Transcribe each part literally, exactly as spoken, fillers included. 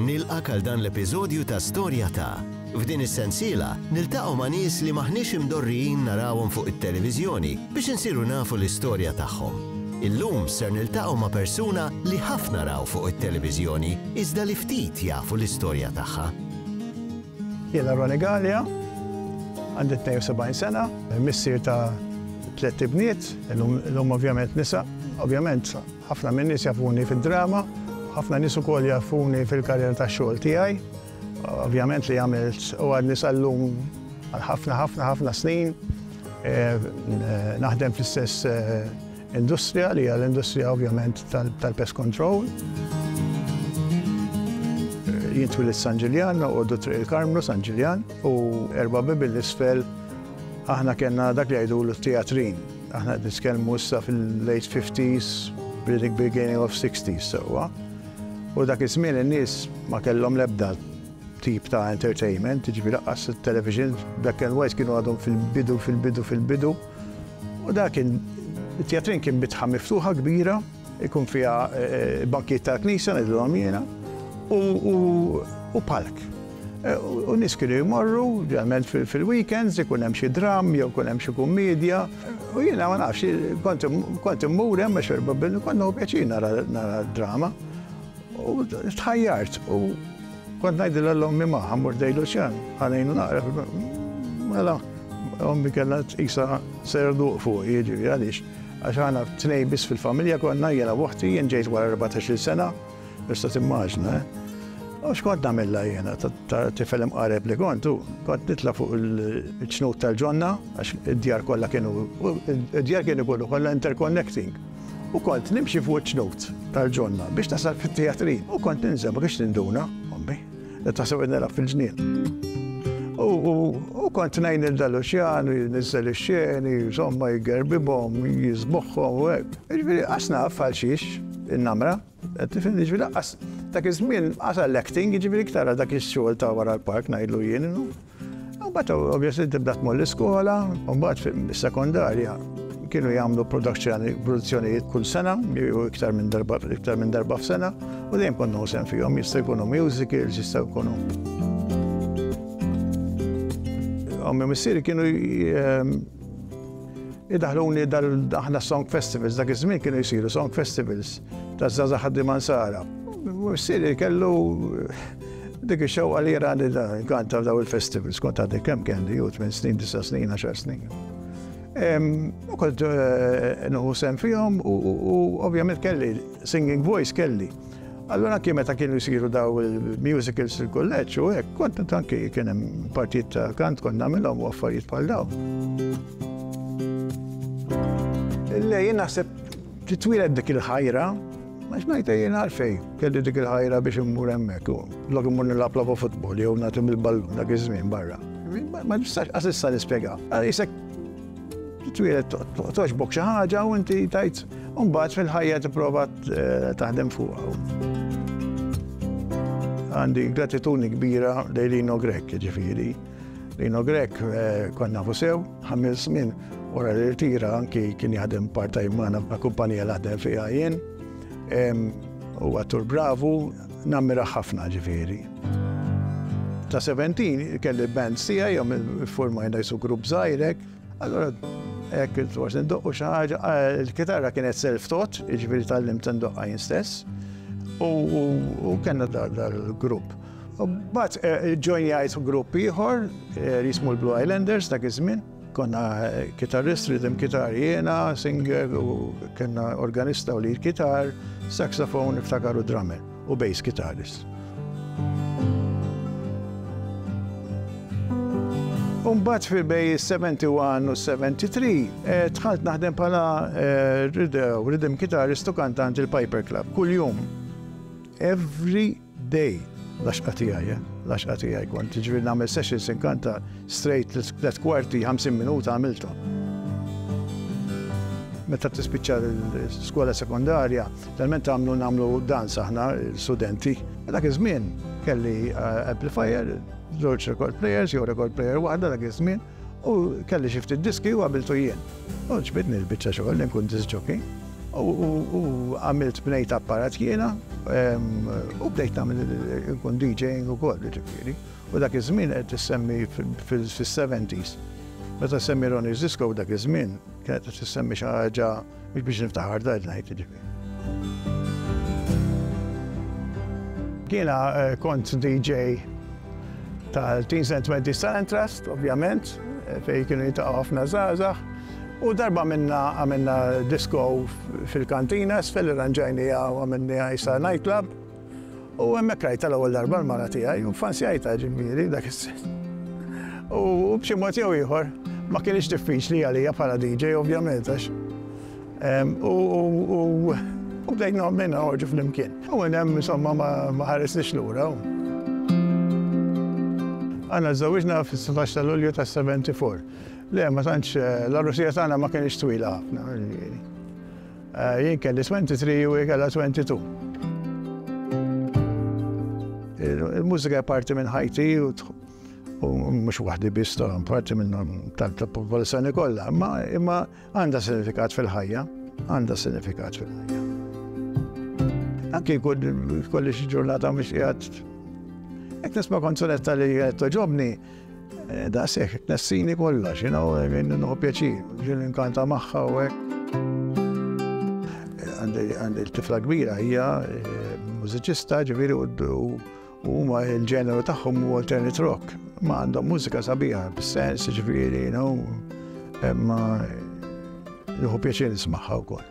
Nilqgħek għal dan l-episodju ta' Storja ta'. F'din is-sensiela niltaqgħu ma' nies li maħniex imdorrijin narawhom fuq it-televiżjoni biex insiru nafu l-istorja tagħhom. Illum ser niltaqgħu ma' persuna li ħafna raw fuq it-televiżjoni iżda li ftit jafu l-istorja tagħha. Jiena Ronnie Galea, għandi tnejn u sebgħin sena, missier ta' tliet ibniet, illum ovvjament nisa. Ovvjament ħafna minn nies jafuni fid-drama, ħafna nies ukoll jafuni fil-karriera tax-xogħol tiegħi. Ovvjament li għamilt u għadni sal-lum għal ħafna ħafna ħafna snin eh, naħdem fl-istess eh, industrija, li hija l-industrija ovvjament tal-pest control. Jien twilidt San Ġiljan, u Triq il-Karmnu, San Ġiljan, u erba' bibien 'l isfel aħna kellna dak li jgħidu l-teatrin. Aħna nitkellmu issa fil-late fifties, beginning of sixties, sewwa. U dak iż-żmien in-nies ma kellhom l-ebda tip ta' entertainment, ġifieri lanqas television, black and white kienu għadhom fil-bidu, fil-bidu, fil-bidu. U dak kien, il-teatrin kien bitħa miftuħa kbira, ikun fiha eh, bankijiet tal-knisja, ngħidulhom jiena, u palk. Eh, u nies kienu jmorru, ġeneralment fil-weekends, ikun hemm xi dramm jew ikun hemm xi kummedja. U jiena ma nafx, kont immur hemm għax erba' kont nieħu pjaċir nara drama. U tħajjart u kont ngħidilha 'l ommi, "Ma, ħa mmur ħdejn Luċjan, ħa ngħinu naqra." Mela, ommi kellha tqisha serduq fuq, jiġifieri għaliex? Għax aħna tnejn biss fil-familja konna, jiena u oħti, jien ġejt wara erbatax-il sena, tista' timmaġina, eh? U x'kont nagħmilha jiena, ta' tifel imqareb li kont, kont nitla' fuq il-ċnut tal-ġonna, għax id-djar kollha kienu, id-djar kienu kollu kollha interconnecting. U kont nimxi fuq iċ-ċnut tal-ġonna biex nasal fit-teatrin. U kont ninżel, ma kienx tinduna, ommi, taħseb nilgħab fil-ġnien. U kont ngħin lil Luċjan, jniżżel ix-xeni, insomma, jgerbibhom, jiżboħħom u hekk. Ġifieri, qas naf għal xiex in-namra, tifhem, ġifieri qas dak iż-żmien qas l-acting, ġifieri iktar dak ix-xogħol ta' wara l-park ngħidlu jien. U mbagħad obviously tibda tmur l-iskola, u mbagħad fis-sekondarja kienu jagħmlu produzzjonijiet kull sena, jew iktar minn darba iktar minn darba f'sena, u dejjem konna sehem fihom, jista' jkunu musicals, jista' jkunu. Ommi missieri kienu idaħluni dal aħna song festivals, dak iż-żmien kienu jsiru song festivals ta' żgħażagħ ħaddiema Nsara. Missieri kellu dik ix-xewqa li jarani nkanta f'daw il-festivals, kont għadni kemm kelli, ju tmien snin, disa' snin, għaxar snin. U kont nieħu sehem fihom u ovvjament kelli singing voice kelli. Allora anki meta kienu jsiru daw il-musicals il-kulleġġ u hekk, kont anki kien hemm partijiet ta' kant kont nagħmilhom u affarijiet bħal daw. Le, jien naħseb titwieled dik il-ħajra, ma xnajta jien għalfej, kelli dik il-ħajra biex immur hemmhekk. Lok immur nilgħab logħba futbol jew nagħti il-ballun dak iż-żmien barra. Ma nistax qas issa nispjega. Qisek titwieled togħġbok xi ħaġa u inti tajt u mbagħad fil-ħajja tipprova taħdem fuqha. Għandi gratitudni kbira lejn Lino Grech, ġifieri. Lino Grech konna nafu sew, ħames snin wara li rtira anki kien jaħdem part-time magħna ma' kumpanija li ħdem fiha jien. U attur bravu, nammira ħafna ġifieri. Ta' sebgħa u sebgħin kelli band tiegħi, jom formajna qisu grupp żgħir hekk. Allora hekk forsi ndoqqu xi ħaġa, il-kitarra kienet self-taught, jiġifieri tgħallimt ndoqqa jien stess. U kellna dal-grupp. U mbagħad ġojnjajt grupp ieħor li jismu l-Blue Islanders dak iż-żmien. Konna kitarrist, rhythm guitar jiena, singer, u kellna organista u lead guitar, saxophone, niftakar, u drummer u bass guitarist. Umbagħad fil bejn sebgħa u sebgħin u tlieta u sebgħin dħalt naħdem bħala rhythm guitarist u kantant il-Piper Club. Kull jum. Every day. L-għaxqa tiegħi, l-għaxqa tiegħi kont. Ġifieri nagħmel sessions inkanta straight tliet kwarti, ħamsin minuta għamilthom. Meta tispiċċa l-skola sekondarja, talment għamlu nagħmlu dance aħna studenti. Dak iż-żmien kelli amplifier, żewġ record players, jew record player waħda dak iż-żmien, u kelli xi ftit diski u għamiltu jien. U għoġbitni l-biċċa xogħol li nkun disc jockey. U għamilt bnejt apparat jiena. U bdejt nagħmel nkun DJing ukoll, ġifieri. U dak iż-żmien qed tissemmi fis-seventies. Meta semmi Ronnie's Disco dak iż-żmien, kienet qed tissemmi xi ħaġa mhux biex niftaħar da ngħid ġifieri. Jiena kont D J tal-Teens and Twenties Talent Trust, ovvjament, fejn kienu jiltaqgħu ħafna żgħażagħ. U darba minna għamilna disco fil-kantina, isfel irranġajnieha u għamilnieha issa nightclub. U hemmhekk rajta l-ewwel darba l-mara tiegħi u fansjajta, ġifieri, dak is-sens. U b'xi mod jew ieħor ma kienx diffiċli għalija bħala D J, ovvjament, għax. U bdejna minna noħorġu flimkien. U hemm insomma ma ħaresniex lura. Aħna żżewwiġna fis-sittax ta' Lulju ta' sebgħa u sebgħin. Le, ma tantx, l-għarusija tagħna ma kienx twila ħafna. Jien kelli tlieta u għoxrin u hi kellha tnejn u għoxrin. Il-mużika parti minn ħajti u mhux waħdi biss, ta' parti minn tal-popolazzjoni kollha, imma għandha sinifikat fil-ħajja, għandha sinifikat fil-ħajja. Anki kolli xi ġurnata mhux qiegħed jekk nisma' kanzunetta li qed togħġobni, daqshekk tnessini kollox, you know, nieħu pjaċir, ġieli nkanta magħha u hekk. Għandi l-tifla kbira, hija mużiċista, ġifieri, u huma il-ġeneru tagħhom hu alternate rock. Ma għandhom mużika sabiħa, bis-sens, ġifieri, you know, ma nieħu pjaċir nismagħha wkoll.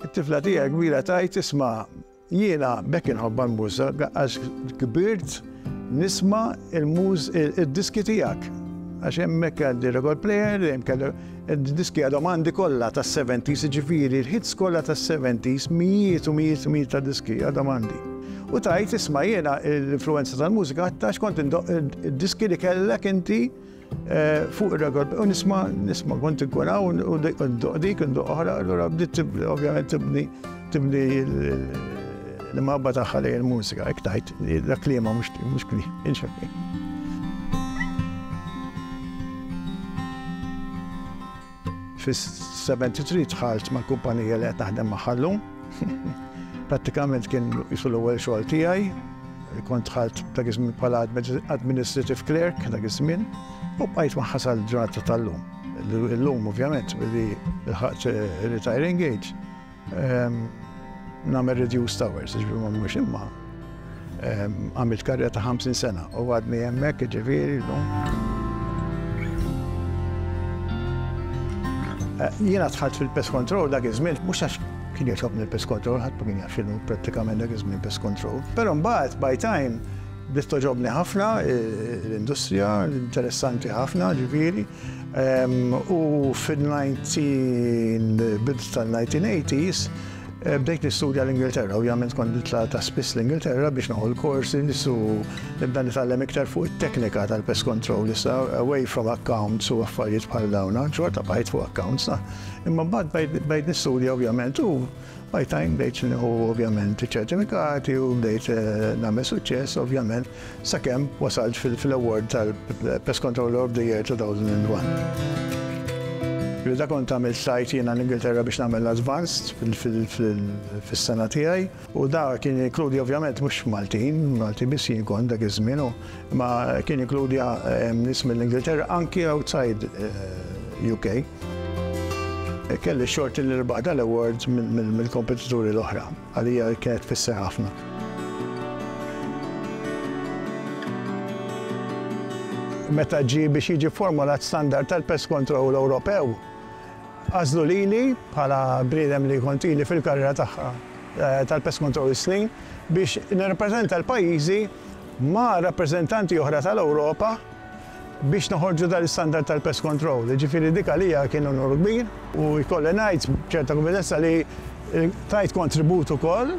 It-tifla tiegħi kbira tgħid, "Isma', jiena b'hekk inħobbha l-mużika għax kbirt nisma' il-muż id-diski tiegħek." Għax hemmhekk għandi record player, hemm kellu id-diski għadhom għandi kollha tas-seventies, ġifieri l-hits kollha tas-seventies, mijiet u mijiet u mijiet ta' diski għadhom għandi. U tgħid, "Isma', jiena l-influenza tal-mużika għax kont id-diski li kellek inti fuq il-record u nisma' nisma' kont inkun hawn u ndoqq dik, ndoqq oħra." Allura bdiet ovvjament tibni tibni l-imħabba tagħha lejn il-mużika, hekk tgħid, dak kliemha, mhux mhux kliem. Fis-sebgħa u sebgħin dħalt mal-kumpanija li qed naħdem magħha llum. Prattikament kien jisu l-ewwel xogħol tiegħi. Kont dħalt dak iż-żmien bħala administrative clerk dak iż-żmien u bqajt magħha sal-ġurnata tal-lum. Illum, ovvjament, billi lħaqt retiring age, nagħmel reduced hours, ġifieri ma mhux, imma għamilt karriera ta' ħamsin sena u għadni hemmhekk, ġifieri, llum. Jiena dħalt fil-pest control dak iż-żmien mhux għax kien jogħġobni l-pest control, ħadd ma kien jaf x'inhu prattikament dak iż-żmien pest control. Però mbagħad by time bdiet togħġobni ħafna l-industrija, interessanti ħafna, ġifieri. U fil-nineteen bidu tal-nineteen eighties bdejt nistudja l-Ingilterra, ovvjament kont nitla' ta' spiss l-Ingilterra biex nieħu l-korsi, nisu nibda nitgħallem iktar fuq it-teknika tal-pest control, issa away from accounts u affarijiet bħal dawna, xorta bqajt fuq accounts, na. Imma mbagħad bdejt nistudja, ovvjament, u by time bdejt nieħu ovvjament ċertifikati u bdejt nagħmel suċċess, ovvjament, sakemm wasalt fil-award tal-Pest Controller of the Year two thousand and one. Da kont għamilt tlajt jiena l-Ingilterra biex nagħmel advanced fis-sena tiegħi u da kien jinkludi ovvjament mhux Maltin, Malti biss jien kont dak iż-żmien, ma kien jinkludi nies mill-Ingilterra, anki outside U K. Kelli xorti li rbaħ dal-awards mill-kompetituri l-oħra, għalija kienet tfisser ħafna. Meta ġi biex jiġi formulat standard tal-pest control Ewropew, għażlu lili bħala bniedem li kont ili fil-karriera tagħha tal-pest control snin biex nirrappreżenta l-pajjiżi ma' rappreżentanti oħra tal-Ewropa biex noħorġu dal-standard tal-pest control. Ġifieri dik għalija kien unur kbir u jkolli ngħid ċerta konfidenza li tajt kontribut ukoll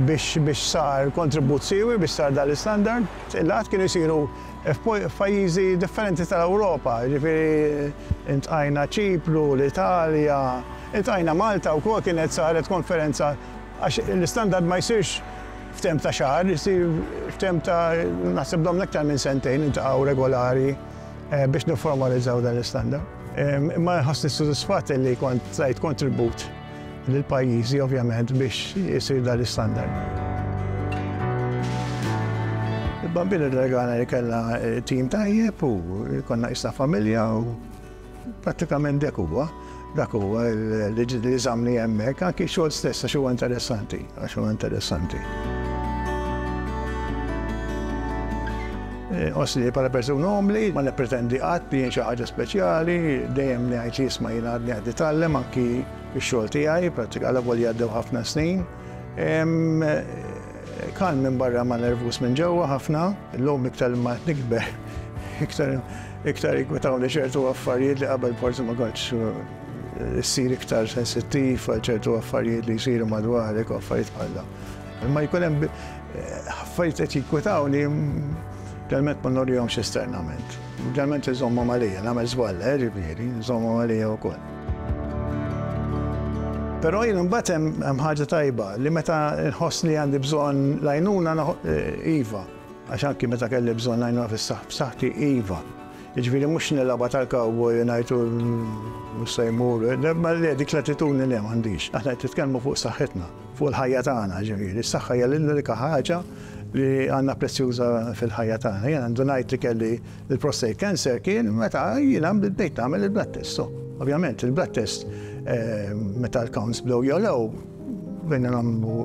biex biex sar kontribut siewi biex sar dal-standard. Il-laqgħat kienu jsiru f'pajjiżi differenti tal-Ewropa, ġifieri iltqajna Ċipru, l-Italja, iltqajna Malta wkoll, kienet saret konferenza, għax l-standard ma jsirx f'temp ta' xahar, jsir f'temp ta', naħseb domna aktar minn sentejn niltaqgħu regolari biex niformalizzaw dan l-istandard. Imma nħossni sodisfatt li kont tajt kontribut lill-pajjiżi, ovvjament, biex jisir dan l-istandard. Il-Bambin irregalana li kellna tim tajjeb u konna issa familja u prattikament dak huwa. Dak huwa li żammni hemmhekk, anki xogħol stess għax huwa interessanti, għax huwa interessanti. Osli bħala persuna umli, ma nippretendi qatt li jien xi ħaġa speċjali, dejjem ngħid li isma' jien għadni qed nitgħallem anki x-xogħol tiegħi, prattika għal jgħaddew ħafna snin. Kalm minn barra ma nervus minn ġewwa ħafna, illum iktar ma nikber, iktar iktar jinkwetawni ċertu affarijiet li qabel forsi ma kontx issir iktar sensittiv għal ċertu affarijiet li jsiru madwarek u affarijiet bħal dawn. Imma jkun hemm affarijiet qed jinkwetawni ġeneralment ma nurihomx esternament. Ġeneralment iżommhom għalija, nagħmel żball, ġifieri, iżommhom għalija wkoll. Però jien imbagħad hemm ħaġa tajba li meta nħoss li għandi bżonn l-għajnuna iva, għax anki meta kelli bżonn l-għajnuna fis-saħħti iva. Jiġifieri mhux nilgħabha tal-cowboy ngħidu mhux se jmur, ma le dik l-attitudni le m'għandix. Aħna qed nitkellmu fuq saħħitna, fuq il-ħajja tagħna, ġifieri, is-saħħa hija l-unika ħaġa li għandna prezzjuża fil-ħajja tagħna. Jien għandu ngħid li kelli l-prostate cancer kien meta jiena bdejt nagħmel il-blood test. So, ovvjament il-blood test meta l-counts bdew jogħlew, bdejna nagħmlu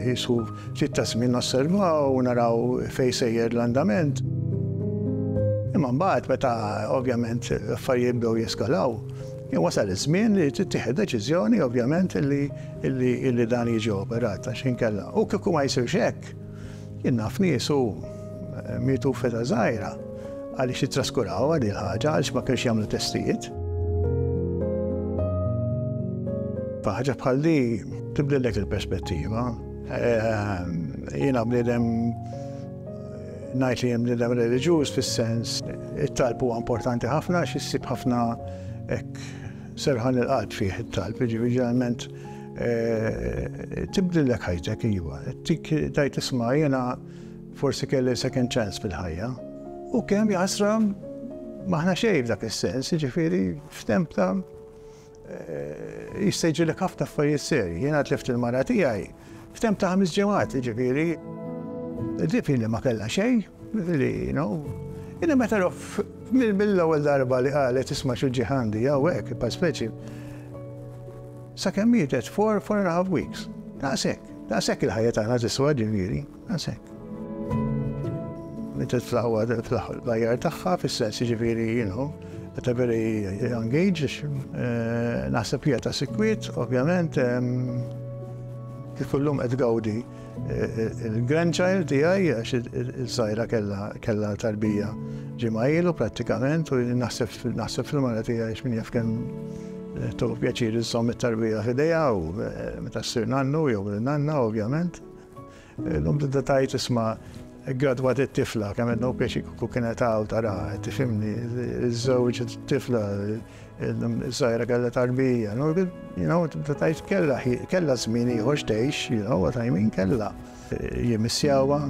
jisu ftit ta' żmien nosservaw u naraw fejn sejjer l-andament. Imma mbagħad meta ovvjament l-affarijiet bdew jeskalaw, wasal iż-żmien li tittieħed deċiżjoni ovvjament illi dan jiġi operat għax inkella. U kieku ma jsirx hekk, jien naf nies u mietu f'età żgħira għaliex jittraskuraw għal il-ħaġa għaliex ma kienx jagħmlu testijiet. Ħaġa bħal di tibdillek il-perspettiva. Jiena bniedem ngħid li jien bniedem reliġjuż fis-sens it-talb huwa importanti ħafna għax issib ħafna hekk serħan il-qalb fih it-talb, jiġifieri ġeneralment tibdillek ħajtek iva. Tik tgħid isma' jiena forsi kelli second chance fil-ħajja. U kemm jaħasra m'aħna xejn f'dak is-sens, jiġifieri f'temp ta' jista' jiġrilek ħafna affarijiet serji. Jiena tlift il-mara tiegħi f'temp ta' ħames ġimgħat, jiġifieri dik li ma kellha xejn, li you know. Jiena meta mill-ewwel darba li qalet isma' xi ġiħandi jew hekk, pa speċi. Sakemm mietet four, four and a half weeks. Daqshekk, daqshekk il-ħajja tagħna tiswa ġifieri, daqshekk. Mietet fl-aqwa fl-aħjar tagħha fis-sens jiġifieri, you know, at a very young age, naħseb hija ta' sikwiet, ovvjament, kif illum qed gawdi il-grandchild tiegħi għax il-żgħira kellha tarbija ġimgħa ilu prattikament u naħseb naħseb fil-mara tiegħi għax min jaf kemm tieħu pjaċir iżżomm it-tarbija f'idejha u meta ssir nannu jew nanna ovvjament. Illum tibda tgħid isma' gradwat it-tifla, kemm qed nieħu pjaċir kieku kienet hawn tara, tifhimni, iż-żewġ it-tifla, iż-żgħira kellha tarbija, you know, tibda tgħid kellha kellha żmien ieħor x'tgħix, you know what I mean, kellha. Jimmissjawha,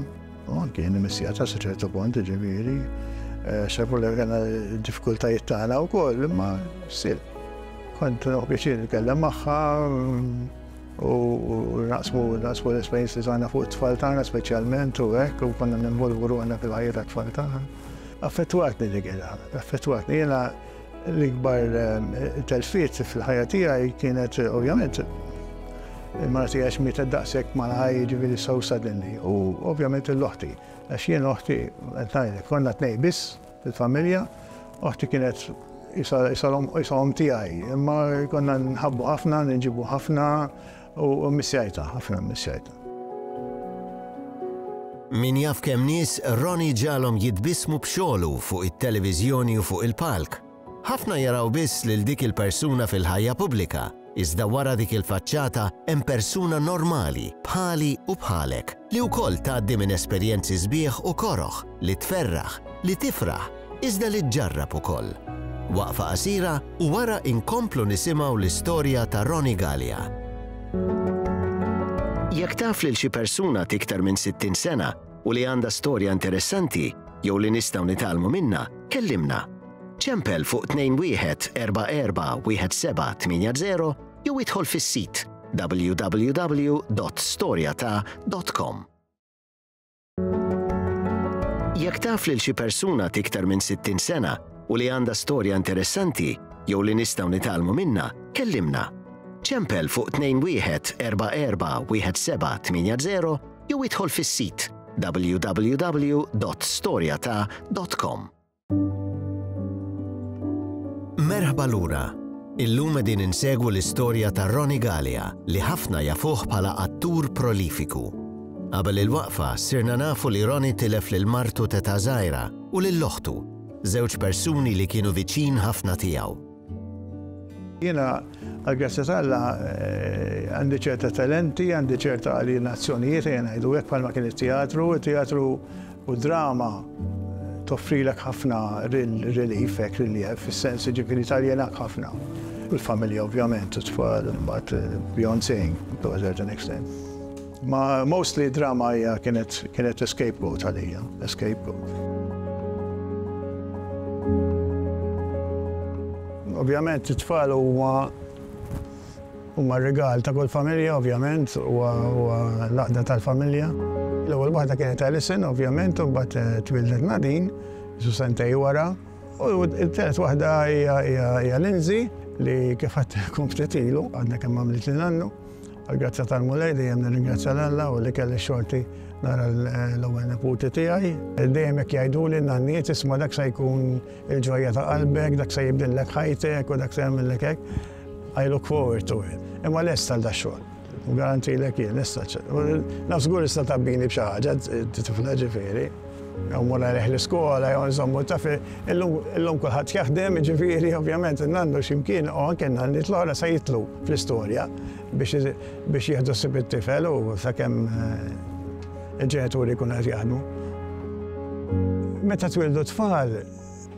u anke jien immissjata sa ċertu punt, ġifieri, xafu li kellna diffikultajiet tagħna wkoll, imma still. Kont nieħu pjaċir nitkellem magħha u naqsmu naqsmu l-esperjenzi tagħna fuq it-tfal tagħna speċjalment u hekk u konna ninvolvu ruħna fil-ħajja tat-tfal tagħna. Affettwatni dik il-ħaġa, affettwatni. Jiena l-ikbar telfiet fil-ħajja tiegħi kienet ovvjament il-mara tiegħi għax mietet daqshekk malajr ġifieri so suddenly u ovvjament l-oħti. Għax jien oħti, qed ngħidlek, konna tnejn biss fil-familja, oħti kienet isa omm tiegħi, imma konna nħabbu ħafna, nġibu ħafna u missjajta, ħafna missjajta. Min jaf kemm nies Ronnie ġagħalhom jitbissmu b'xogħlu fuq it-televiżjoni u fuq il-palk. Ħafna jaraw biss lil dik il-persuna fil-ħajja pubblika, iżda wara dik il-faċċata hemm persuna normali, bħali u bħalek, li wkoll tgħaddi minn esperjenzi sbieħ u koroħ, li tferraħ, li tifraħ, iżda li ġġarrab ukoll. Waqfa qasira u wara inkomplu nisimgħu l-istorja ta' Ronnie Galea. Jekk taf lil xi persuna t'iktar minn sittin sena u li għandha storja interessanti jew li nistgħu nitgħallmu minnha, kellimna. Ċempel fuq tnejn wieħed erba' erba' wieħed seba' tmienja zero jew idħol fis-sit w w w dot storja ta dot com. Jekk taf lil xi persuna t'iktar minn sittin sena u li għandha storja interessanti jew li nistgħu nitgħallmu minnha, kellimna. Ċempel fuq tnejn wieħed erba' erba' wieħed seba' tmienja zero jew idħol fis-sit w w w dot storjata dot com. Merħba lura. Illum qegħdin insegwu l-istorja ta' Ronnie Galea li ħafna jafuh bħala attur prolifiku. Qabel il-waqfa sirna nafu li Ronnie tilef lil martu t'età żgħira u lil oħtu, żewġ persuni li kienu viċin ħafna tiegħu. Jiena, għall-grazzja t'Alla, għandi ċerta talenti, għandi ċerta alienazzjonijiet, jiena ngħidu hekk bħalma kien it-teatru, it-teatru u drama toffrilek ħafna relief, hekk relief, fis-sens ġifieri taljenak ħafna. U l-familja ovvjament, u t-tfal, but beyond saying, to a certain extent. Ma mostly drama hija kienet, kienet a scapegoat għalija, a scapegoat. Ovvjament it-tfal huma huma r-rigal ta' kull familja, ovvjament, huwa l-għaqda tal-familja. L-ewwel waħda kienet Alison, ovvjament, u mbagħad twildet Nadine, ġu sentej wara. U t-tielet waħda hija Lindsay, li kif għedtilkom ftit ilu, għadna kemm għamlet li nannu. Għal-grazzja tal-Mulej dejjem nirringrazzja l-Alla u li kelli xorti nara l-ewwel neputi tiegħi. Dejjem hekk jgħiduli n-nanniet, isma' dak se jkun il-ġojja ta' qalbek, dak se jibdillek ħajtek u dak se jagħmillek hekk. I look forward to it. Imma lest għal dax-xogħol. U garantilek jien, lest għal xogħol. Naf żgur issa tabbini b'xi ħaġa, tifla ġifieri. Jew mur għalih l-iskola, jew nżommu taf, illum kulħadd jaħdem, ġifieri, ovvjament, nannu x'imkien, u anke nanniet l-oħra se jitlu fl-istorja biex jieħdu ħsieb it-tifel u sakemm il-ġenituri jkunu qed jaħdmu. Meta twildu tfal,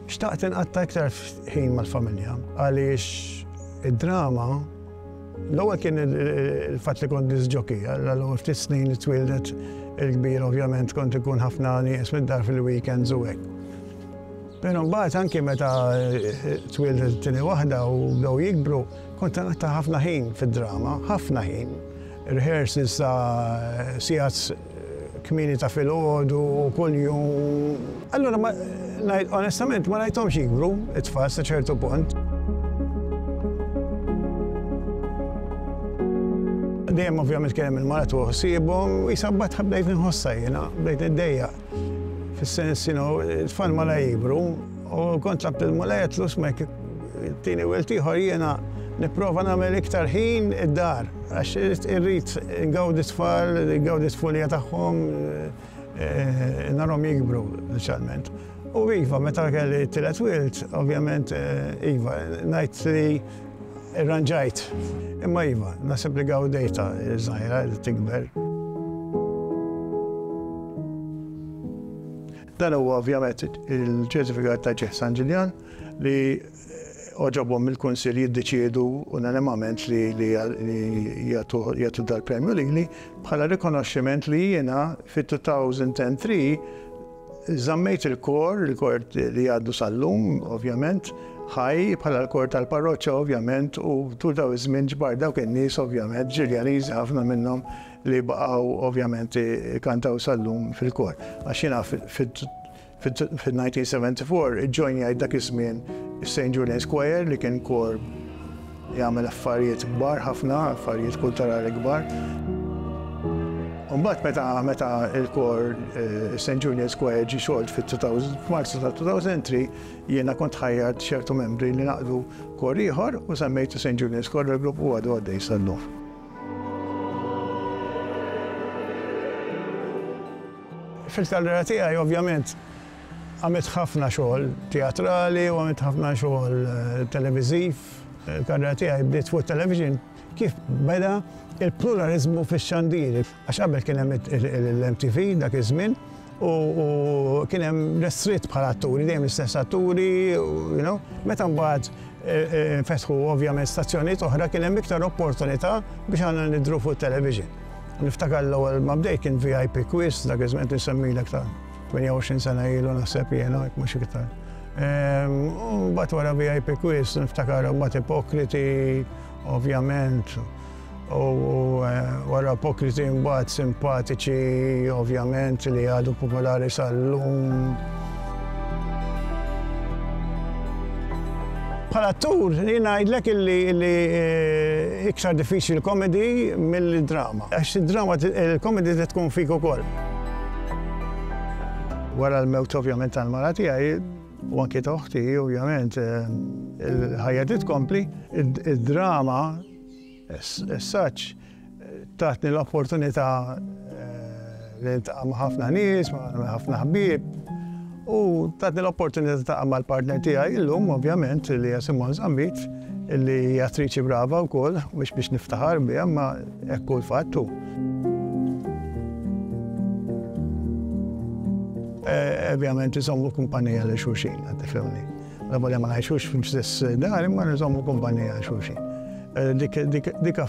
xtaqt inqatta' iktar ħin mal-familja, għaliex id-drama, l-ewwel kien il-fatt li kont disc jockey, l-ewwel ftit snin li twildet il-kbir ovvjament kont ikun ħafna nies mid-dar fil-weekends u hekk. Però mbagħad anke meta twildet it-tieni waħda u bdew jikbru, kont nqatta' ħafna ħin fid-drama, ħafna ħin. Rehearsals ta' sigħat kmieni ta' filgħodu u kuljum. Allura onestament ma rajthomx jikbru it-tfal sa ċertu punt. Dejjem ovvjament kien hemm il-mara tuħu ħsiebhom, u jisabbat bdejt inħossha jiena, bdejt niddejjaq. Fis-sens, you know, it-tfal ma la jikbru, u kont tlabt il-Mulej għedtlu isma' jekk tieni wild ieħor jiena nipprova nagħmel iktar ħin id-dar, għax irrid ngawdi t-tfal, ngawdi t-tfulija tagħhom, narhom jikbru, speċjalment. U iva, meta kelli t-tielet wild, ovvjament, iva, ngħid li irranġajt. Imma iva, naħseb li gawdejta żgħira li tikber. Dan huwa ovvjament il-ċertifikat ta' Ġieħ San Ġiljan li oġobhom mill-Kunsill jiddeċiedu unanimament li jagħtu dal-premju lili bħala rikonoxximent li jiena fit-two thousand and three żammejt il-kor, il-kor li għaddu sal-lum, ovvjament, ħaj bħala l-kor tal-parroċċa, ovvjament, u tul daw iż-żmien ġbar dawk in-nies, ovvjament, Ġiljaniżi ħafna minnhom li baqgħu ovvjament kantaw sal-lum fil-kor. Għax jiena fil-nineteen seventy-four ġojnjajt dak iż-żmien Saint Julian's Choir li kien kor jagħmel affarijiet kbar ħafna, affarijiet kulturali kbar. Mbagħad meta, meta il-kor, eh, Saint Julian's Choir ġie xolt fit-two thousand, f'Marzu ta' two thousand three, jiena kont ħajjart ċertu membri li naqdu kor ieħor u semmejtu Saint Julian's Choir il-grupp u għadu għaddej sal-lum. Fil-karriera tiegħi ovvjament għamilt ħafna xogħol teatrali u għamilt ħafna xogħol, eh, televiżiv. Il-karriera tiegħi bdiet fuq television kif beda il-pluralizmu fix-xandir. Għax qabel kien hemm l-M T V dak iż-żmien u, u kien hemm restritt bħala atturi, dejjem l-istess atturi, you know. Meta mbagħad, eh, eh, nfetħu ovvjament stazzjonijiet oħra kien hemm iktar opportunità biex aħna nidhru fuq television. Niftakar l-ewwel ma bdejt kien V I P Quiz, dak iż-żmien insemmilek ta' tmienja u għoxrin sena ilu naħseb jiena, jekk mhux iktar. Ehm, u mbagħad wara V I P Quiz niftakar mbagħad Ipokriti, ovvjament. U wara Ipokriti mbagħad Simpatiċi, ovvjament, li għadu popolari sal-lum. Bħala attur, jien ngħidlek illi iktar diffiċli l-komedi mill-drama. Għax id-drama, il-komedi tkun fik ukoll. Wara l-mewt ovvjament tal-mara tiegħi, u anke ta' oħti, ovvjament, il-ħajja titkompli, id-drama, as such, tatni l-opportunità li niltaqa' ma' ħafna nies, ma' ħafna ħbieb, u tatni l-opportunità ta' mal-partner tiegħi illum, ovvjament, li hija Simone Zammit, li hija attriċi brava wkoll, mhux biex niftaħar biha, ma hekk hu l-fatt hu. Ovvjament iżommu kumpanija lil xulxin, tifhimni. L-avolja ma ngħixux fl-istess dar, imma nżommu kumpanija lil xulxin. Dik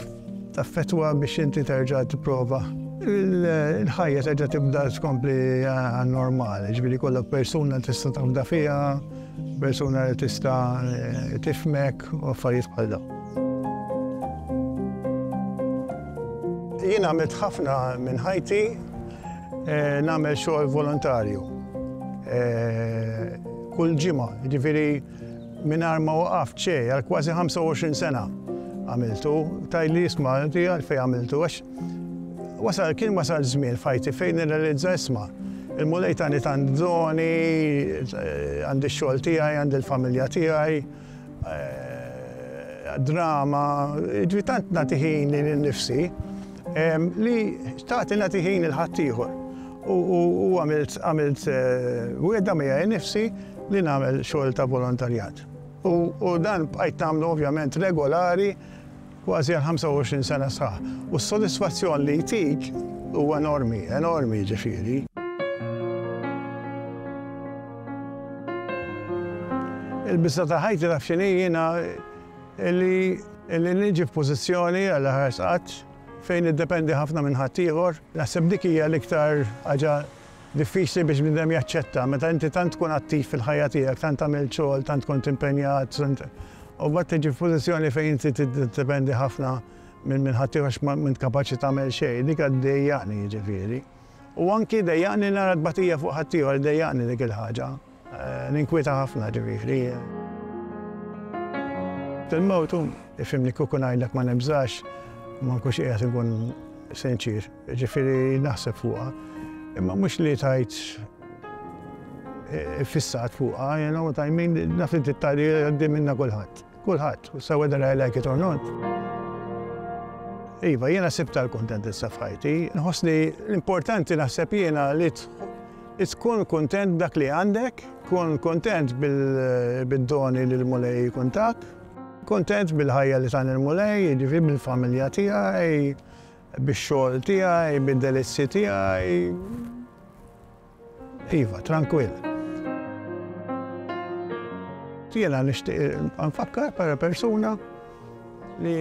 taffettwa biex inti terġa' tipprova il-ħajja terġa' tibda tkompli normali, ġifieri kollok persuna tista' tafda fiha, persuna li tista' tifhmek u affarijiet bħal dawn. Jien għamilt ħafna minn ħajti nagħmel xogħol volontarju. Kull ġimgħa, ġifieri mingħajr ma waqaft xejn għal kważi ħamsa u għoxrin sena għamiltu, tgħidli isma' inti għalfejn għamiltu, għax wasal kien wasal żmien f'ħajti fejn nirrealizza isma' il-Mulej tani tant doni, għandi x-xogħol tiegħi, għandi l-familja tiegħi, drama, ġifieri tant nagħti ħin lili nnifsi li xtaqt nagħti ħin lil ħaddieħor. U għamilt għamilt wegħda miegħi nnifsi li nagħmel xogħol ta' volontarjat. U dan bqajt nagħmlu ovvjament regolari kważi għal ħamsa u għoxrin sena sħaħ. U s-sodisfazzjon li jtik huwa enormi, enormi ġifieri. Il-biża' ta' ħajti taf x'inhi jiena li li niġi f'pożizzjoni għal ħarsqat fejn iddependi ħafna minn ħaddieħor. Naħseb dik hija l-iktar ħaġa diffiċli biex bniedem jaċċetta, meta inti tant tkun attiv fil-ħajja tiegħek, tant tagħmel xogħol, tant kont impenjat, u mbagħad tiġi f'pożizzjoni fejn inti tiddependi ħafna minn minn ħaddieħor għax m'int kapaċi tagħmel xejn, dik ddejjaqni jiġifieri. U anki ddejjaqni nara tbatija fuq ħaddieħor, ddejjaqni dik il-ħaġa. Ninkwieta ħafna ġifieri. Il-mewt, ifhimni, kieku ngħidlek ma nibżax, ma nkunx qiegħed inkun sinċir, ġifieri naħseb fuqha. Imma mhux li tajt fissat fuqha, you know what I mean, naf li tgħaddi għaddi minna kulħadd. Kulħadd, so whether I like it or not. Iva, jiena sibta l-kuntentizza f'ħajti. Nħossni l-importanti naħseb jiena li tkun kontent dak li għandek, kun kontent bil-doni li l-Mulej jkun tak, kontent bil-ħajja li tani l-Mulej, ġifieri bil-familja tiegħi, bix-xogħol tiegħi, bid-delizzi tiegħi. Iva, tranquill. Jiena nixtieq nfakkar bħala persuna li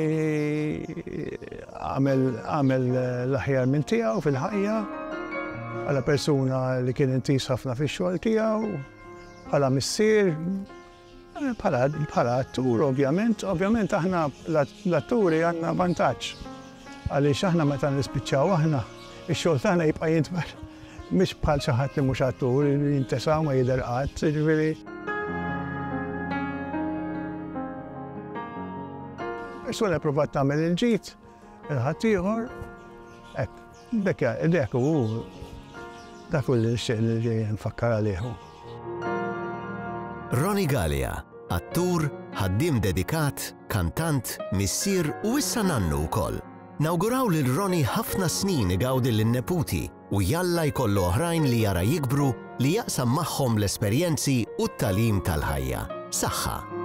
għamel għamel l-aħjar minn tiegħu fil-ħajja, bħala persuna li kien intiż ħafna fix-xogħol tiegħu, bħala missier, bħala bħala attur ovvjament, ovvjament aħna l-atturi għandna vantaġġ. Għaliex aħna meta nispiċċaw aħna, ix-xogħol tagħna jibqa' jintwer. Mhix bħal xi ħadd li mhux attur, jintesa ma jidher qatt, jiġifieri. Persuna provat tagħmel il-ġid, il-ħaddieħor, hekk, dak dak hu dak hu li nixtieq li nfakkar għalih. Ronnie Galea, attur, ħaddiem dedikat, kantant, missier u issa nannu wkoll. Nawguraw lil Ronnie ħafna snin igawdi lin-neputi u jalla jkollu oħrajn li jara jikbru li jaqsam magħhom l-esperjenzi u t-tagħlim tal-ħajja. Saħħa!